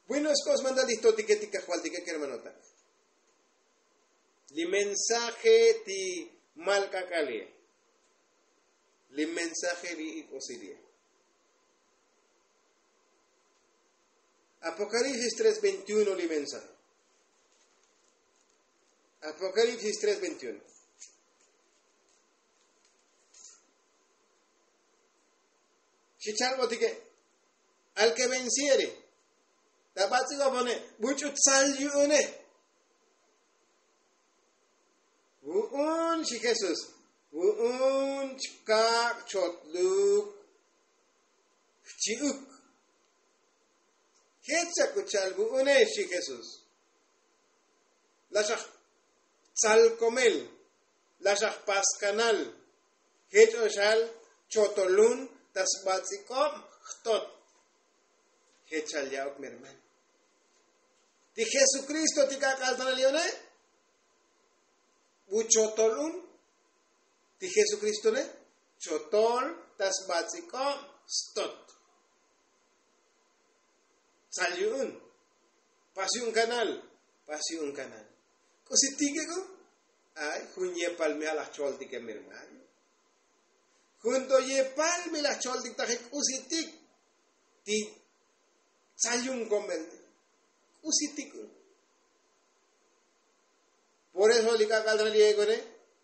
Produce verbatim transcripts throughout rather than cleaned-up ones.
Bueno, skos mandal ijtotike ti kajvaltike kermanota. Li mensaje ti mal k'ak'al ye. Li mensaje li ik'osil ye. Apokalipsis tres veintiuno li mensaje. Apokalipsis tres veintiuno. Xi chalbotike. Al ke vensiere ta bats'ik'opone, buch'u tsal yu'une. Vu'un xi jesús, vu'un chkak' chotluk jchi'uk. Jech chak uchal vu'une xi jesús. Laxaj tsal komel, laxaj pas kanal. Jech oxal chotolun ta sbats'ik'ob jtot. Jech chal ya'uk mi hermano. Ti jesukristo ti k'ak'al tanal yo'ne, bu chotolun. Ti jesukristone chotol ta sbats'ik'ob stot. Tsal yu'un. Pas yu'un kanal. Pas yu'un kanal. K'usi tik'ik'u. Ay jun yepal mi alaj choltike mi hermano. Jun to yepal mi laj choltik taji k'usi tik. Ti tsal yu'un komel. K'usi tik'u. Por eso li k'ak'al ta li ek'une,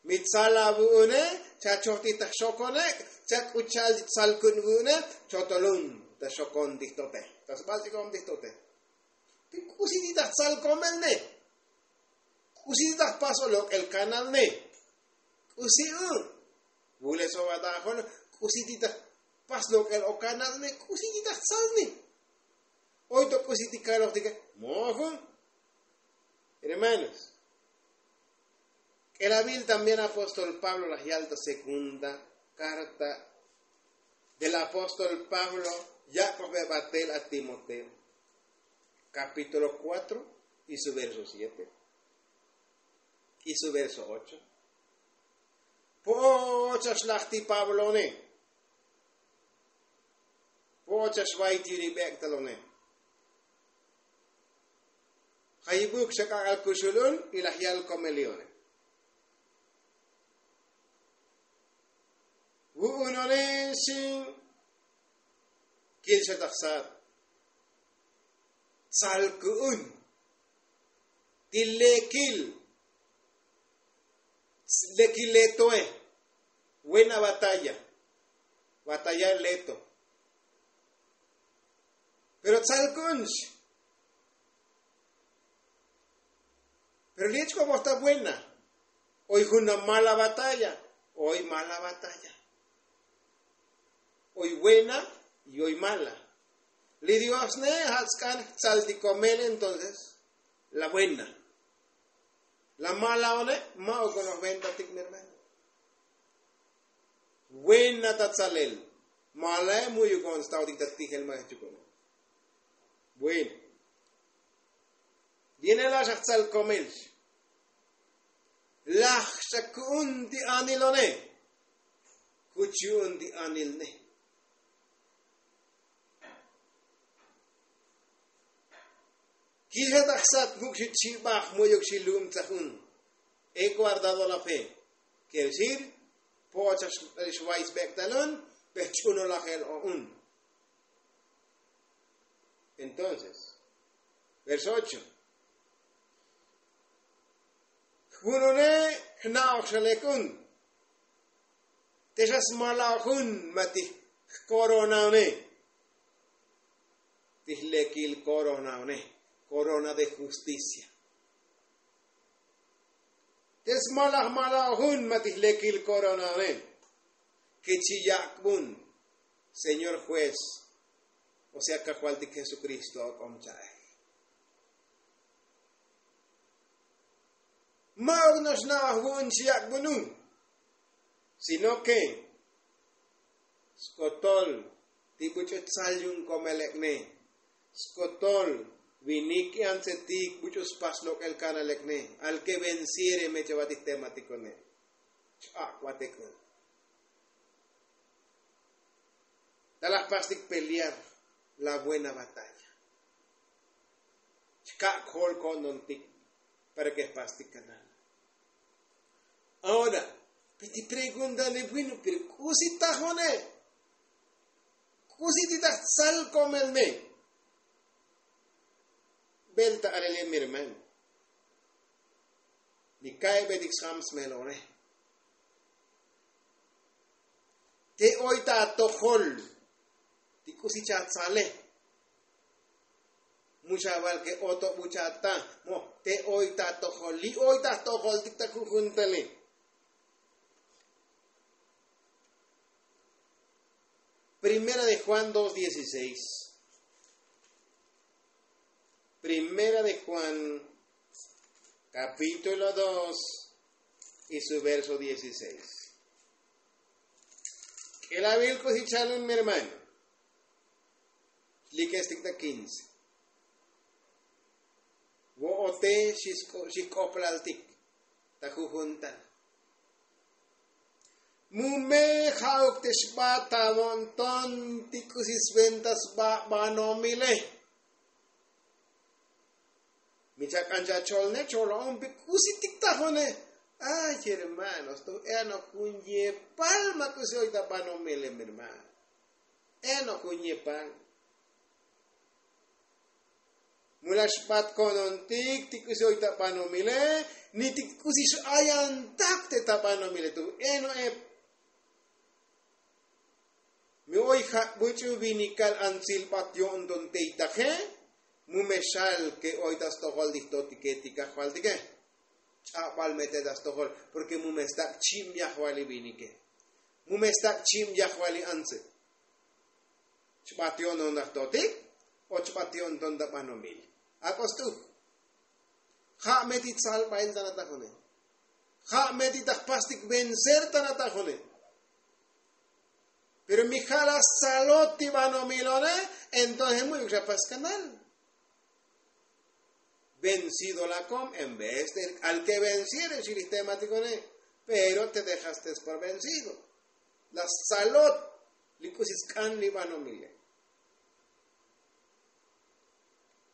mi tsal avu'une, cha chojtik ta jxokone, cha k'u cha'al tsal ku'un vu'une, chotolun ta xokon ti jtote, ta sbats'ik'om ti jtote. Pi k'usi ti ta jtsal komel ne. K'usi ti ta jpas o lok'el kanal ne. K'usi u. Vule so vatajon, k'usi ti ta jpas lok'el o kanal ne, k'usi ti ta jtsal ne. Oy to k'usi ti kalojtike mojo. Hermanos, k'elavil también apóstol pablo laj yal ta segunda karta del apóstol pablo, yak'oj bebatel a timoteo, kapítulo kuatro y su verso siete y su verso ocho. Po'ocha xlaj ti pablone. Po'ocha xvay ti ri bek' talone. Jayibuk xa k'ak'al kuxulun y laj yal komelione. Vu'unone xin. Kil xa ta jsat. Tsal ku'un ti lekil. Lekil letoe. Buena batalla. Batalla leto. Pero tsal ku'un xi. Pero li ech k'o bojta buena. Oy jun na mala batalla. Oy mala batalla. Oy buena y oy mala. Li dios ne ja' tsk'an jtsal ti komel entonces la buena. La mala one ma' okonoj venta tik mi hermano. Buena ta tsalel. Malae mu'yukon staotik ta tijel ma' jchukon. Bueno. Viene la xa jtsal komel. Laj xa ku'un ti anilone. Kuch yu'un ti anilne. Kija ta jsat muk' xi chibaj mu'yuk xi lum tsajun. He guardado la fe. Quiere decir po'ocha xvay sbek' talun. Pejch'unolajel o'un. Entonces verso ocho. Jvunune jna'oj xa lek un. Te xa smala' jun ma ti jkoronaone. Ti jlekil koronaone. Korona de justicia. Te smala' jmala' jun ma ti jlekil koronaone. Ke chi yak'bun señor juez. O sea kajvaltik jesukristo ok'om cha'ej. Ma' ok no'ox na'oj vu'un chi yak'bun un. Sino ke skotol ti buch'u tsal yu'un komelekne. Skotol vinik i antsetik buch'u spas lok'el kanalekne. Al ke vensiere me chavatik tematikone. Ch'ak' vatek un. Talaj pastik pelear la buena batalla. Ka' kol ko'ntontik para ke jpastik kanal. Ahora, pe ti pregunta li bueno pero k'usi tajone? K'usi ti taj tsal komel me? Bel ta alele mi hermano, ni ka'ibetik sjam smelone. Te oy ta atojol ti k'usi chatsale. Mu xaval ke oto bu chata mo te oy ta atojol li oy ta atojoltik ta jujun tale. Primera de Juan dos dieciséis. Primera de Juan, capítulo dos y su verso dieciséis. K'elavil k'usi chalun mi hermano. Likestik ta quince. Vo'ote xijk'oplaltik ta jujuntal. Mu me ja'uk te xbat ta vo'nton ti k'usi sventa sba banomile. Mi chak'an chacholne cholo'on pe k'usi tik tajone? Ay hermanos to enok jun yepal ma k'usi oy ta banomile mi hermano. Enok jun yepal. Mu laj xbat ko'ntontik ti k'usi oy ta banomile ni ti k'usi x'ayantak te ta banomile tu eno ep. Mi oy ja' buch'u vinikal antsil bat yo'nton tey taje. Mu me xal ke oy ta stojol ti jtotike ti kajvaltike. Ch'abal me te ta stojol porke mu me stak' chib yajvali vinike. Mu me stak' chib yajvali antse. Chbat yo'nton ta jtotik o chbat yo'nton ta banomil? Ak'o st'uk. Ja' me ti tsalbail ta natajone. Ja' me ti ta jpastik vencer ta natajone. Pero mi ja' laj stsalot ti banomilone. Entonces mu'yuk xa pas kanal. Vencido lakom en vez de k'al ke venciere xi li jtematikone. Pero te dejaste por vencido. Laj stsalot li k'usi sk'an li banomile.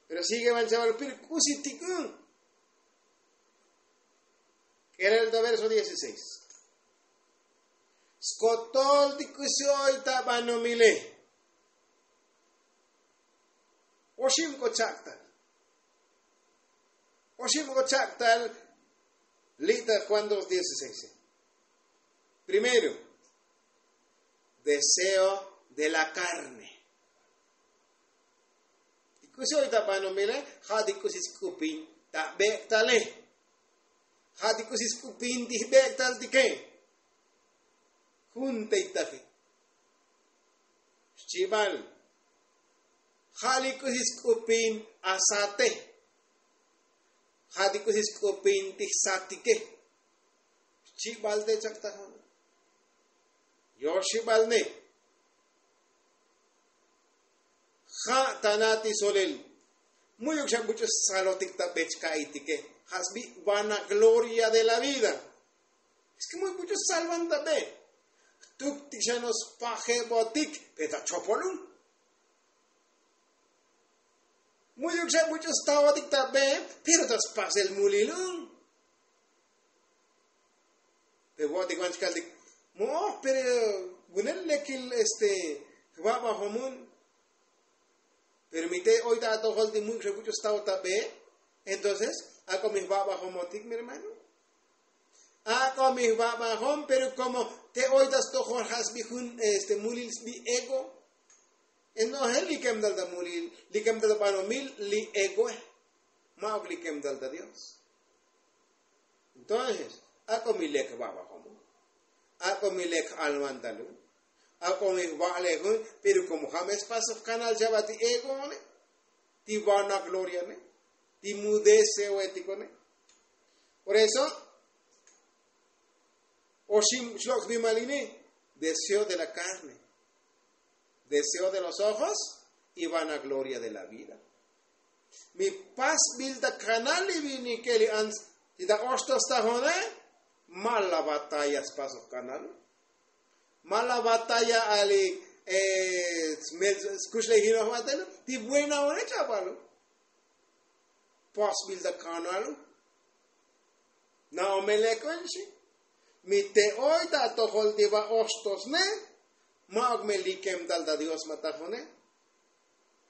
Pero sigue van chaval pil k'usi tik'un. K'erel ta verso dieciséis. Skotol ti k'usi oy ta banomile. Oxib k'o chak'tal. Oxib k'o chak'tal. Li' ta Juan dos dieciséis. Primero, deseo de la carne. Ti k'usi oy ta banomile ja' ti k'usi sk'upin ta bek'tale. Ja' ti k'usi sk'upin ti jbek'taltike. Jun tey taje. Xchibal. Ja' li k'usi sk'upin asate. Ja' ti k'usi sk'upin ti jsatike. Xchibal te chak'tajon. Yoxibal ne. Ja' ta na ti solel. Mu'yuk xa buch'u salotik ta be chka'itike. Ja' sbi vanagloria de la vida. Es ke mu'yuk buch'u salvan ta be. Jtuktik xa no spajebotik pe ta chopolun. Mu'yuk xa buch'u staotik ta be pero ta spasel mulilun. Pe vo'otik van chkaltik mo'oj pero vunel lekil este jvabajomon. Pero mi te oy ta atojol ti mu'yuk xa buch'u staotik ta be. Entonces ak'o mi jvabajomotik mi hermano. Ak'o mi jvabajom pero komo te oy ta stojol ja' sbi jun este mulil sbi ego. Entonces li kemtal ta mulil li kemtal ta banomil li egoe. Ma'uk li kemtal ta dios. Entonces ak'o mi lek jvabajom. Ak'o mi lek j'alvantalun. Ak'o mi jva'lejun. Pero komo ja' me spasoj kanal chava ti egoone ti vanagloriane ti mudeseoetikone. Por eso oxib xlok' sbimaline. Deseo de la carne, deseo de los ojos y vanagloria de la vida. Mi pasbil ta kanal li vinike li ants ti ta oxto stajone. Ma la batalla spasoj kanal. Ma la batalla ali smel skuxlejinojo atelo ti buenaone chapalo. Pasbil ta kanal u. Na'omelek un xi. Mi te oy ta atojol ti va oxtosne. Ma'uk me likem tal ta dios ma tajone.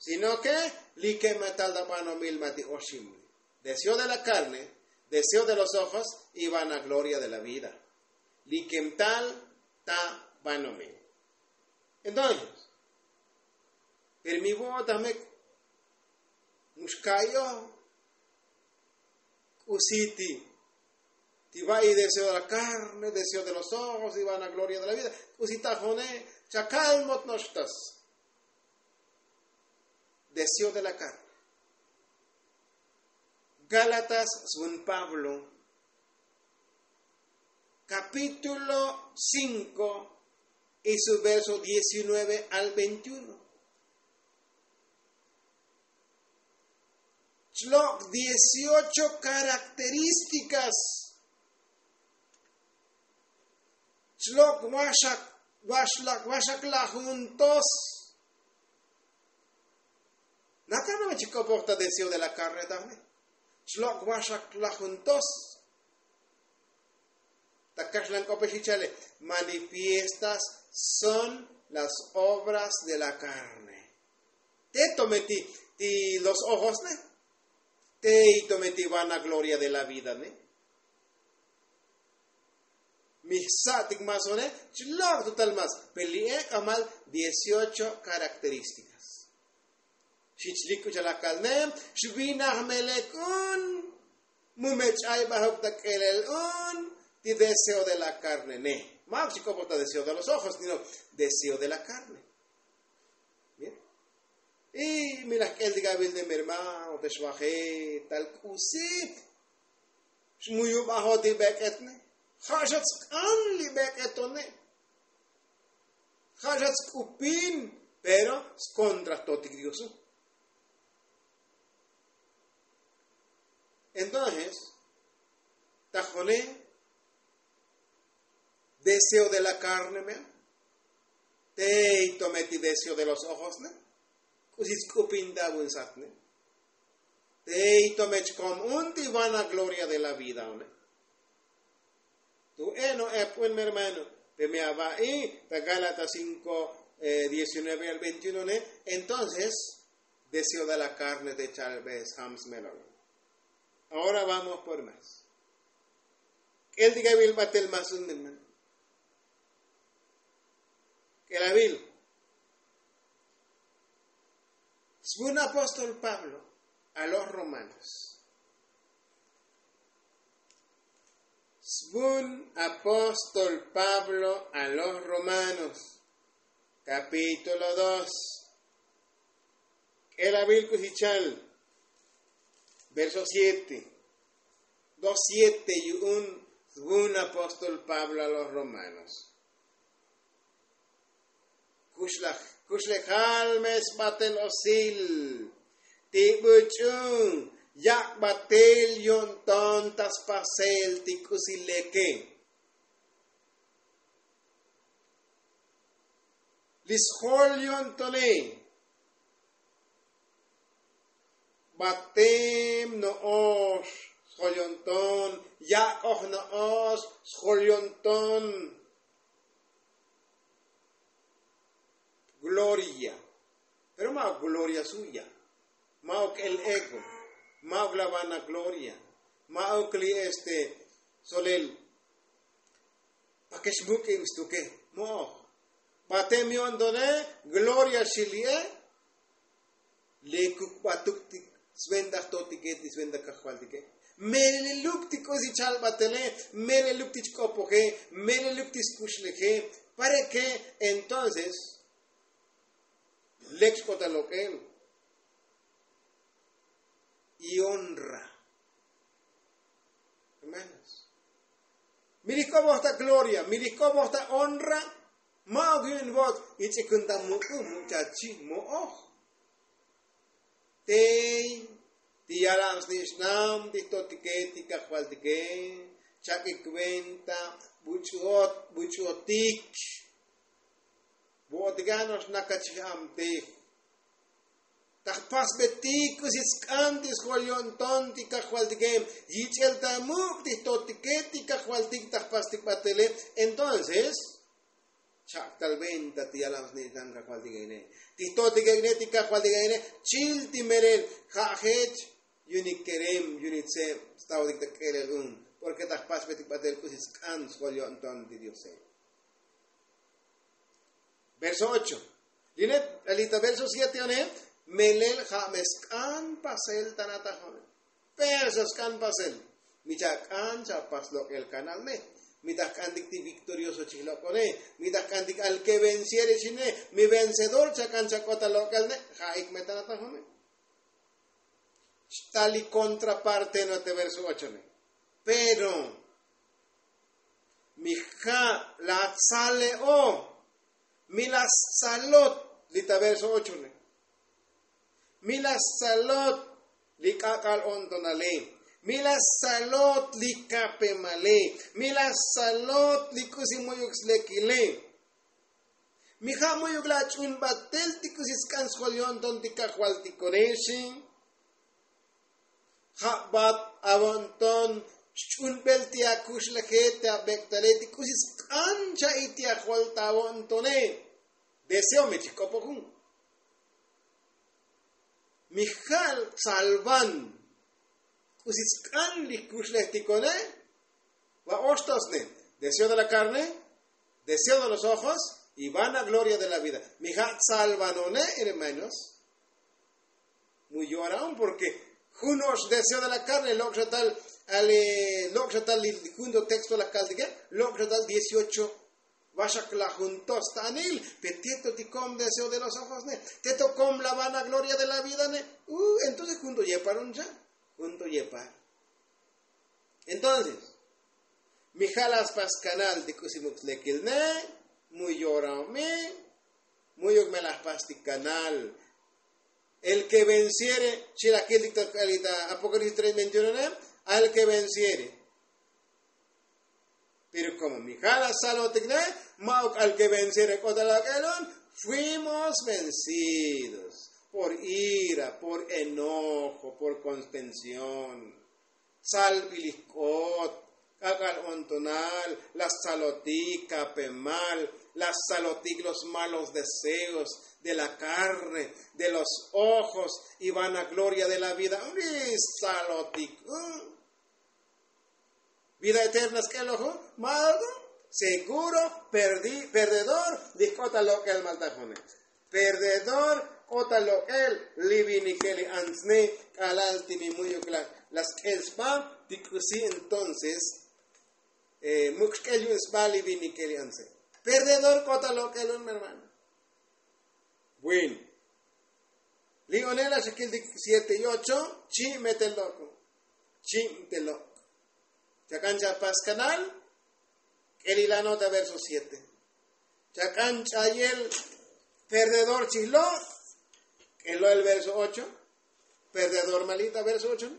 Sino ke likem ma tal ta banomil ma ti oxim. Deseo de la karne, deseo de los ojos, y vanagloria de la vida. Likem tal ta banomil. Entonces, pero mi vo'otamek, muxka'iyo. K'usi ti ti va'i deseo de la karne, deseo de los ojos, y vanagloria de la vida. K'usi tajone. Chakal mot noxtas. Deseo de la karne. Gálatas svun pablo, kapítulo cinko, y su verso diecinueve al veintiuno. Chlok' dieciocho karakterístikas. Chlok' waxak waxlak waxak lajuntos. Nakana me chikopok ta deseo de la karne tajne. Chlok' waxak lajuntos. Ta kaxlan k'ope xichale, manifiestas son las obras de la karne. Te tometi ti los ojosne. Te tometi vanagloria de la vidane. Mi jsa'tik masone. Chlok' tutal mas peli'e k'amal dieciocho karakterístikas. Xich lik k'u chalakalnem. Xvinaj melek un. Mu me ch'ay bajok ta k'elel un ti deseo de la karne ne. Ma'uk chik'opok ta deseo de los ojos sino deseo de la karne. Y mi laj k'el ti gavilnem hermano te xvaje tal k'usi xmuyubajot ti bek'etne. Ja' xa tsk'an li bek'etone. Ja' xa tsk'upin. Pero skontra jtotik dioso. Entonces tajone deseo de la karne me. Tey tometi deseo de los ojosne. K'usi tsk'upin ta vunsatne. Tey tomech kom un ti vanagloria de la vida one. Tu eno ep un mi hermano. Pe mi ava'i ta gálatas cinko diecinueve al veintiuno ne. Entonces deseo de la karne te chalbe sjam smelol. Ahora vamos por mas. K'el ti gavil batel mas un mi hermano. K'el avil. Svun apóstol pablo a los romanos. Svun apóstol pablo a los romanos, kapítulo dos. K'el avil k'usi chal. Verso siete. Dos siete yu'un svun apóstol pablo a los romanos. Kuxlejal me sbatel osil ti buch'u yak' batel yo'nton ta spasel ti k'usi leke. Li sjol yo'ntone. Batem no'ox sjol yo'nton. Yak'oj no'ox sjol yo'nton. Gloria. Pero ma'uk gloria suya. Ma'uk el ego. Ma'uk la vanagloria. Ma'uk li este solel. Pakex muk'ib stuke mo'oj. Batem yo'ntone. Gloria xili'e. Lekuk batuk ti sventa jtotike ti sventa kajvaltike. Meleluk ti k'usi chalbatele. Meleluk ti chk'opoje. Meleluk ti skuxleje. Para ke entonces lek xk'ota lok'el. Y honra. Hermanos, mi li jk'oboj ta gloria mi li jk'oboj ta honra. Ma'uk yu'un vo'ot ich'ikun ta muk'u muchachi mo'oj. Tey ti yalan snich'nam ti jtotike ti kajvaltike. Chak'ik venta buch'uot buch'uotik. Vo'otik ano'ox nakachij amtej. Taj Pasbetik k'usi sk'an ti sjol yo'nton ti kajvaltike. Yich'el ta muk' ti jtotike ti kajvaltik ta jpastik batele. Entonces chak' tal venta ti yalan sni'tan kajvaltike ine. Ti jtotike ine ti kajvaltike ine chil ti melel ja' jech yu'unik kerem yu'unik tseb stavotik ta k'elel un. Porke ta jpasbetik batel k'usi sk'an sjol yo'nton ti diose. Verso ocho. Li ta verso siete one. Melel ja' me sk'an pasel ta natajone. Pero xa sk'an pasel. Mi chak'an chapas lok'el kanal ne. Mi ta jk'antik ti viktorioso chijlok'one. Mi ta jk'antik al ke venciere chine. Mi vencedor chak'an chak'ot ta lok'el ne. Ja'ik me ta natajone. Xta li kontraparte no te verso ocho ne. Pero mi ja' la tsale'o. Mi la stzalot li ta verso ocho ne. Mi la stzalot li k'ak'al o'ntonale. Mi la stzalot li kapemale. Mi la stzalot li k'usi mu'yuk slekile. Mi ja' mu'yuk la ach'un batel ti k'usi sk'an sjol yo'nton ti kajvaltikone xi. Ja' bat avo'nton xch'unbel ti akuxleje ti abek'tale ti k'usi sk'an cha'i ti ajol ta avo'ntone. Deseo me chijk'opojun. Mi ja' tsalvan k'usi sk'an li jkuxlejtikone. Va oxtosne. Deseo de la karne, deseo de los ojos y vana gloria de la vida. Mi ja' tsalvanone hermanos. Mu yoraon porke jun ox deseo de la karne lok' xa tal ale lok' xa tal li jun to texto la kaltike. Lok' xa tal dieciocho. Vaxak la jun to stanil pe teto ti kom deseo de los ojos ne. Teto kom la vana gloria de la vida ne. Entonces jun to yepar un cha. Jun to yepar. Entonces mi ja' la spas kanal ti k'usi muk slekil ne. Mu yoraon mi. Mu'yuk me la jpas ti kanal. El ke venciere. Chi la kiltik ta apocalipsis tres veintiuno ne. Al ke venciere. Pero komo mi ja' la salotik ne. Ma'uk al ke venciere k'ot ta lok'el un. Fuimos vencidos por ira, por enojo, por constención. Tsalbil jk'ot, k'ak'al o'ntonal, la stsalotik kapemal, la stsalotik los malos deseos de la karne, de los ojos y vana gloria de la vida. Li stsalotik vida eterna sk'elojo. Ma'oto seguro perdedor li jk'ot ta lok'el maltajone. Perdedor k'ot ta lok'el li vinike li antsne. K'alal ti mi mu'yuk la sk'el sba ti k'usi entonces muk xk'el yu'un sba li vinike li antsne. Perdedor k'ot ta lok'el un mi hermano. Bueno. Li one la xakiltik siete y ocho. Chi' me te lok'. Chi' te lok'. Chak'an chapas kanal. K'elilano ta verso siete. Chak'an ch'ayel perdedor chijlo'. K'elo' el verso ocho. Perdedor malita verso ocho.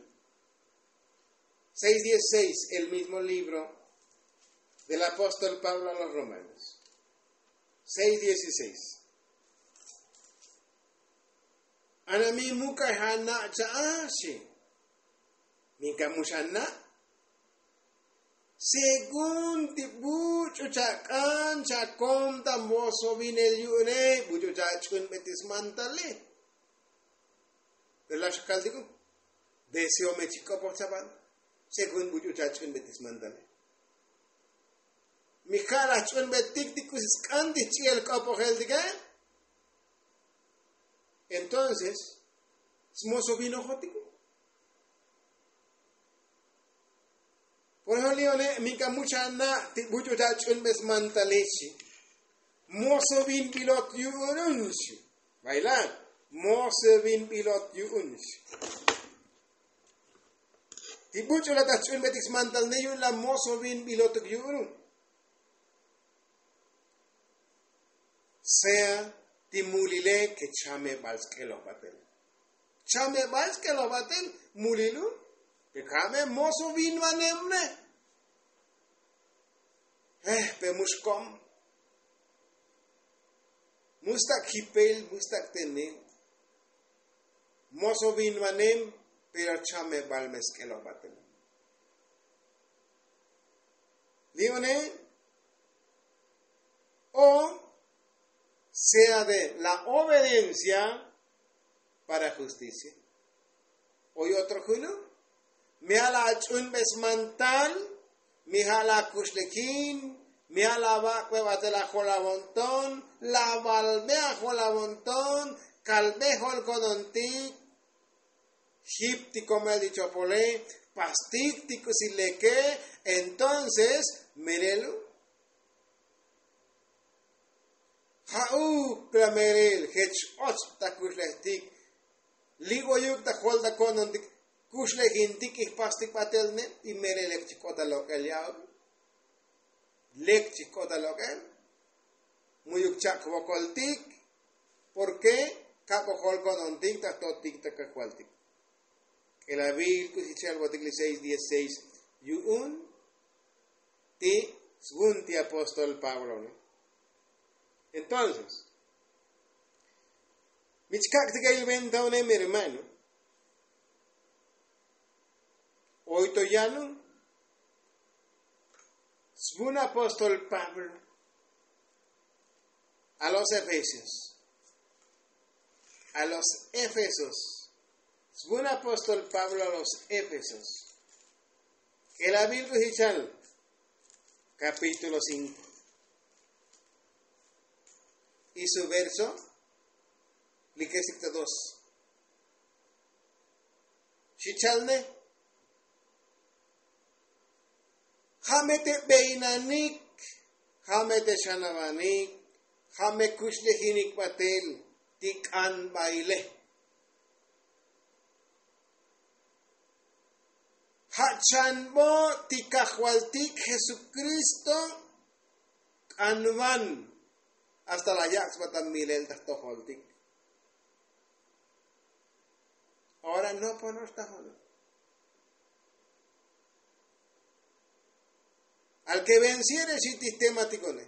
Seis dieciseis el mismo libro del apóstol pablo a los romanos. Seis dieciseis. Ana mi muk'aj ana' cha'axi. Minka mu xana'. Según ti buch'u chak'an chakom ta mosovinel yu'une buch'u chach'unbe ti smantale. Pero la xakaltiku. Deseo me chik'opoj chaban. Según buch'u chach'unbe ti smantale. Mi ja' la jch'unbetik ti k'usi sk'an ti jch'i'el k'opojeltike. Entonces smosovinojotiku. Por ejemplo li one' minka mucha na' ti buch'u chach'unbe smantale xi. Mosovinbilot yu'un xi. Bayla. Mosovinbilot yu'un xi. Ti buch'u la ta jch'unbetik smantal ne yu'un la mosovinbilotuk yu'un. Sea ti mulile ke chamebal sk'eloj batel. Chamebal sk'eloj batel mulilu. Pe kame moso vin vanemne. Pe mux kom. Mustak jipel mustak tenel. Moso vinvanem pero chamebal me sk'eloj batel. Li' une o sea de la obedencia para justicia. Oy otro juno mi ja' la ach'unbes mantal, mi ja' la akuxlejin, mi ja' la vak'be batel ajol avonton, la valbe ajol avonton, kalbe jolkonontik, jip ti komel ti chopole, pastik ti k'usi leke. Entonces melelo ja'uk la melel jech och ta kuxlejtik. Li' oyuk ta jol ta ko'nontik kuxlejintik y jpastik batel ne y melel lek chik'ot ta lok'el ya'uk. Lek chik'ot ta lok'el mu'yuk chak' jvokoltik. Porke kab' ojol ko'nontik ta jtotik ta kajvaltik. K'elavil k'usi cha'al votik li seis dieciseis yu'un ti svun ti apóstol pablo ne. Entonces mi chkak' ti ka'il venta une mi hermano. Oy to yanu svun apóstol pablo a los efesios, a los efesos. Svun apóstol pablo a los efesos. K'elavil k'usi cha'al kapítulo cinko y su verso li kesik ta dos. Xi cha'al ne ja' me te beynanik, ja' me te xanavanik, ja' me kuxlejinik batel ti k'anbaile. Ja' chanbo ti kajvaltik jesukristo k'anvan. Hasta la yak' sba ta milel ta jtojoltik. Ora no ponox ta jolo. Al ke vensiere xi ti jtematikone,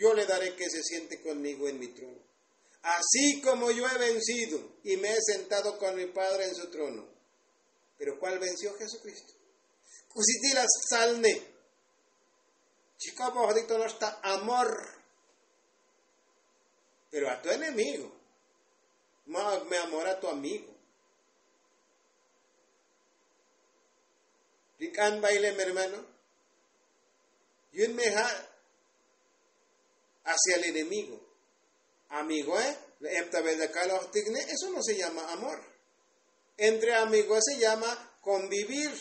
yo le dare ke se siente konmigo en mi trono, asi komo yo he vensido y me he sentado kon mi padre en su trono. Pero kual vensio jesukristo? K'usi ti la sal ne? Chik'opojotik to no'ox ta amor. Pero a tu enemigo. Ma'uk me amor a tu amigo. Li k'an baile mi hermano, yu'un me ja' hacia el enemigo. Amigoe, la epta bel ta kalojtik ne eso no se llama amor. Entre amigoe se llama konvivir.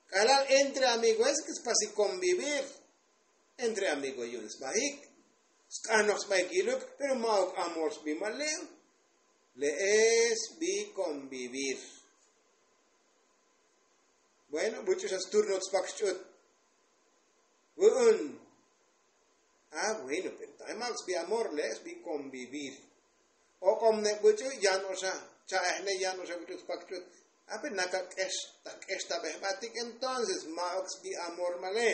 K'alal entre amigoe se ke spasik konvivir. Entre amigoe yu'un sbajik, sk'anoj sbajik yiluk pero ma'uk amor sbi male'u. Le'e sbi konvivir. Bueno, buch'u xa sturno tspak xch'ut. Vu'un. A bueno pero ta' ma'uk sbi amor le'e sbi konvivir. Ok'om ne buch'u yan oxa cha'ej ne yan oxa buch'u tspak xch'ut. A pero nakak'ex ta k'ex ta bejbatik entonces ma'uk sbi amor male.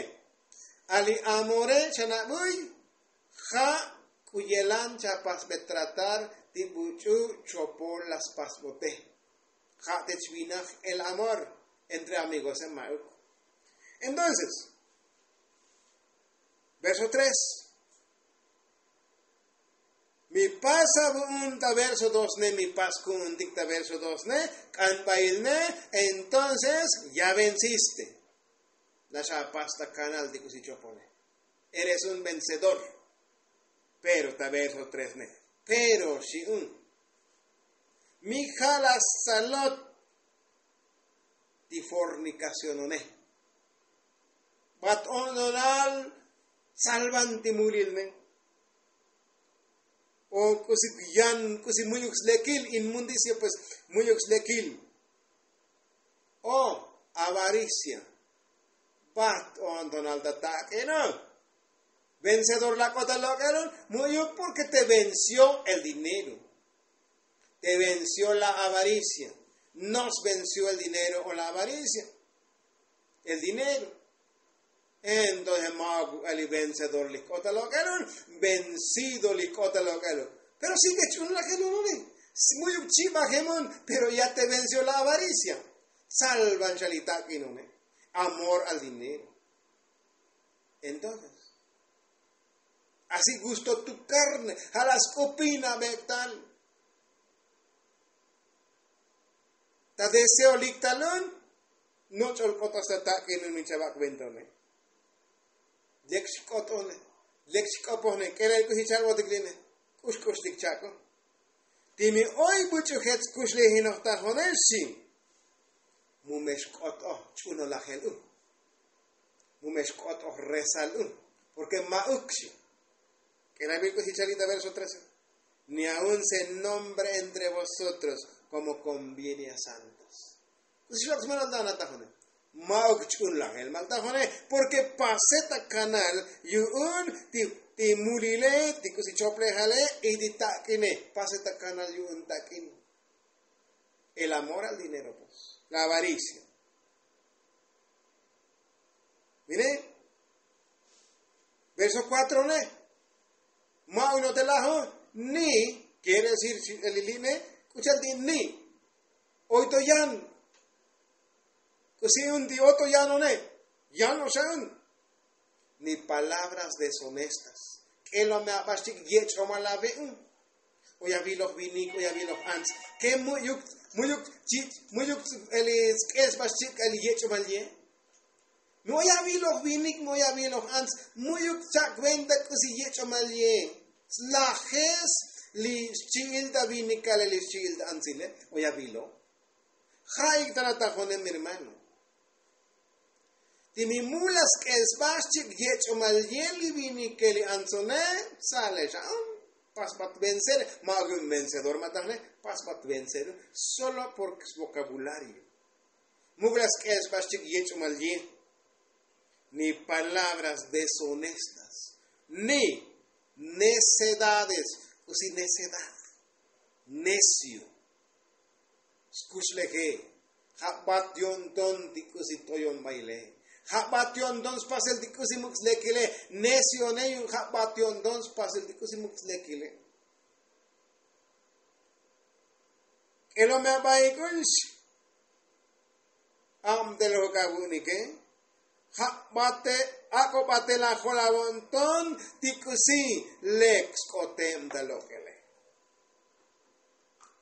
A li amore xa nabuy ja' k'u yelan chapasbe tratar ti buch'u chopol la spasbote. Ja' te chvinaj el amor entre amigose ma'uk. Entonces verso tres. Mi pas avu'un ta verso dos ne mi pas ku'untik ta verso dos ne k'anbail ne. Entonces ya venciste. La xa apas ta kanal ti k'usi chopone. Eres un vencedor. Pero ta verso tres ne pero xi'un mi ja' la salot ti fornikacionone. Bat o'ntonal salvan ti mulil ne. O k'usi yan k'usi mu'yuk slekil inmundicia pues mu'yuk slekil. O avaricia. Bat o'ntonal ta tak'eno. Vencedor la k'ot ta lok'elon mu'yuk porke te venció el dinero. Te venció la avaricia. Nos venció el dinero o la avaricia. El dinero. Entonces ma'uk buk'al li vencedor li k'ot ta lok'elon. Vencido li k'ot ta lok'elon. Pero si ke ch'un la ke lunune, mu'yuk chibajemun. Pero ya te vencio la avaricia. Salvan xa li tak'inune. Amor al dinero. Entonces, así gusto tu karne ja' la sk'upina bek'tal. Ta deseo lik'talun. Noch'ol k'otas ta tak'inun mi chavak ventone. Lek xk'otone. Lek xk'opojne k'elel k'uxi chalbotik line. K'ux k'uxtik chak'o. Ti mi oy buch'u jech kuxlijinoj ta jone xchi. Mu me xk'otoj ch'unolajel u. Mu me xk'otoj rezal u. Porke ma'uk xchi. K'elabil k'usi chalita verso trece. Ni aun se nombre entre vosotros komo konviene a santos. K'usi xlok' smelol ta jone. Ma'uk ch'un lajel mal ta jone. Porke pase ta kanal yu'un ti mulile ti k'usi choplejale y ti tak'ine. Pase ta kanal yu'un tak'in. El amor al dinero pues, la avaricia. Mire, verso cuatro ne. Ma'uk no te lajo ni quiere decir si el iline. K'uchal ti ni oy to yan. K'usi un ti oto yanone. Yan oxa un. Ni palabras deshonestas. K'elo me aba xchik yech'omal ave un. Oy aviloj vinik oy aviloj ants. Ke mu'yuk mu'yuk chi mu'yuk eli sk'esba xchik eli yech'omal ye. Mi oy aviloj vinik mi oy aviloj ants. Mu'yuk chak venta k'usi yech'omal ye. Slajes li xchi'il ta vinikale li xchi'il ta antsile. Oy aviloj. Ja' ik'tana ta jone mi hermano. Ti mi mula sk'el sba xchik yech'omal ye li vinike li antsone. Sale xa pasbat vencer. Ma'uk yu'un vencedor ma ta jone. Pasbat vencer solo porke svokabulario. Muk'la sk'el sba xchik yech'omal ye. Ni palabras deshonestas ni necedades. K'usi necedad. Necio. Skuxleje. Ja' bat yo'nton ti k'usi t'oyon baile. Ja' bat yo'nton spasel ti k'usi muk' slekile. Necione yu'un ja' bat yo'nton spasel ti k'usi muk' slekile. K'elo me abaik un xchi. Abtel jok avu'nike. Ja' bate ak'o batel ajol avo'nton ti k'usi lek sk'otem ta lok'ele.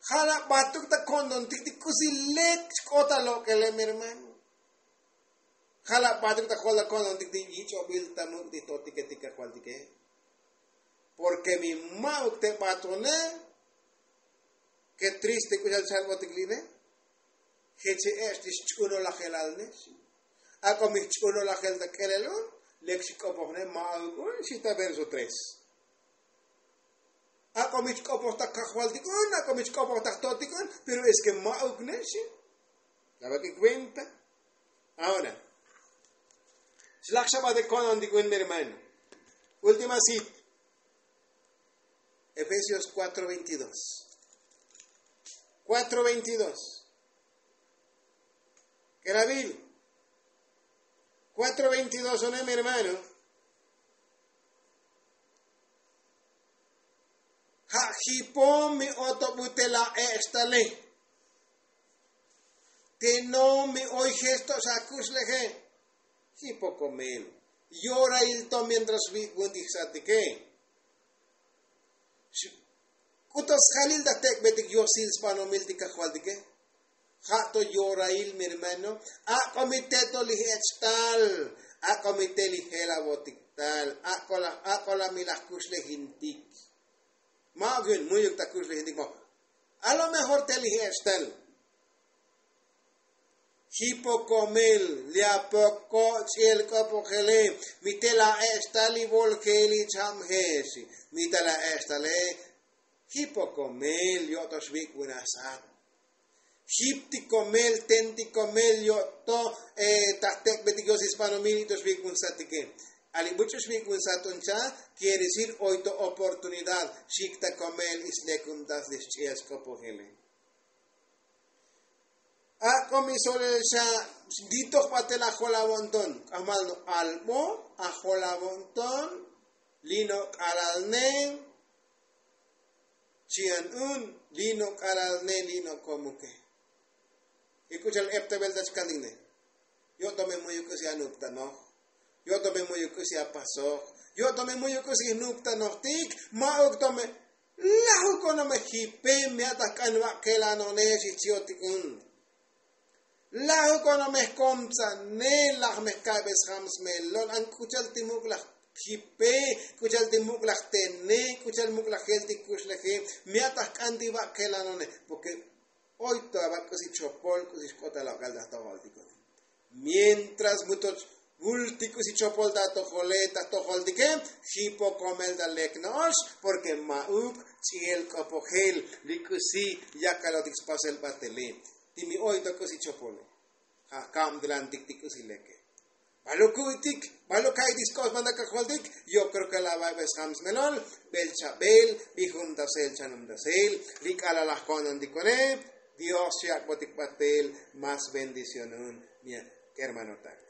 Ja' la batuk ta ko'ntontik ti k'usi lek xk'ot ta lok'ele mi hermano. Ja' la batuk ta jol ta ko'ntontik ti yich'obil ta muk' ti jtotike ti kajvaltike. Porke mi ma'uk te batone. Ke triste k'uxal chalbotik line. Jeche ech' ti xch'unolajelal ne xchi. Ak'o mi jch'unolajel ta k'elel un. Lek xk'opoj ne ma'uk un xchi ta verso tres. Ak'o mi chk'opoj ta kajvaltik un ak'o mi chk'opoj ta jtotik un. Pero es ke ma'uk ne xchi. La vak'ik venta. Ahora xlaj xa batik ko'ntontik un mi hermano. Última cita. Efesios cuatro veintidós. Cuatro veintidós. K'elabil. Cuatro veintidós one mi hermano. Ja' jipom mi otobu te la ech' tale. Te no mi oy jech to xa kuxleje. Jipokomel. Yorail to mientras vik'un ti jsatike. K'uto sjalil ta tek'betik yosil sbanomil ti kajvaltike. Ja' to yorail mi hermano. Ak'o mi te to li jech' tal. Ak'o mi te li jelavotik tal. Ak'o la ak'o la mi laj kuxlejintik. Ma'uk yu'un mu'yuk ta kuxlejintik mo. A lo mejor te li jech' tal. Jipokomel li apoko' ch'iel k'opojele. Mi te la ech' tal li voljeil li cham jech. Mi te la ech' tale. Jipokomel yo'tox vik'un asat. Jiptikomel tentikomel yo'to. Ta jtek'betik yosil sbanomil yo'tox vik'un satike. Ali buch'u xvik'un sat un cha. Quiere decir oy to oportunidad. Xiktakomel islekun tas li xch'iel sk'opojele. Ak'o mi solel xa. Ditoj batel ajol avo'nton k'ajmal no albo ajol avo'nton. Lino k'alal ne. Chi'an un li' no' k'alalne li' no' komuke. Y k'u cha'al eptebel ta chkaltine. Yo' to me mu'yuk k'usi anuptanoj. Yo' to me mu'yuk k'usi apasoj. Yo' to me mu'yuk k'usi jnuptanojtik. Ma'uk to me lajuk ono me jipe. Mi a'taj k'an va'kelanone xijchi'otik un. Lajuk ono me jkomtsane. Laj me jka'be sjam smelol an k'u cha'al ti muk' laj jipe. K'u cha'al ti muk' laj tene. K'u cha'al muk' laj jel ti kuxleje. Mi a'taj k'an ti va'kelanone. Porke oy to ava k'usi chopol k'usi xk'ot ta lok'el ta jtojoltiko. Mientras mutoch vultik k'usi chopol ta jtojole ta jtojoltike. Jipo komel ta lek no'ox. Porke ma'uk ch'i'el k'opojel li k'usi yakalotik spasel batele. Ti mi oy to k'usi chopole ja' kabtelantik ti k'usi leke. Baluk ku'utik baluk ka'itik sk'ox banda kajoltik. Yo kreo ke la va'be sjam smelol. Bel chabel bi jumtasel chanumtasel li k'alal laj ko'nantikone. Dios chi ak'botik batel. Mas bendición un mi kermanotak.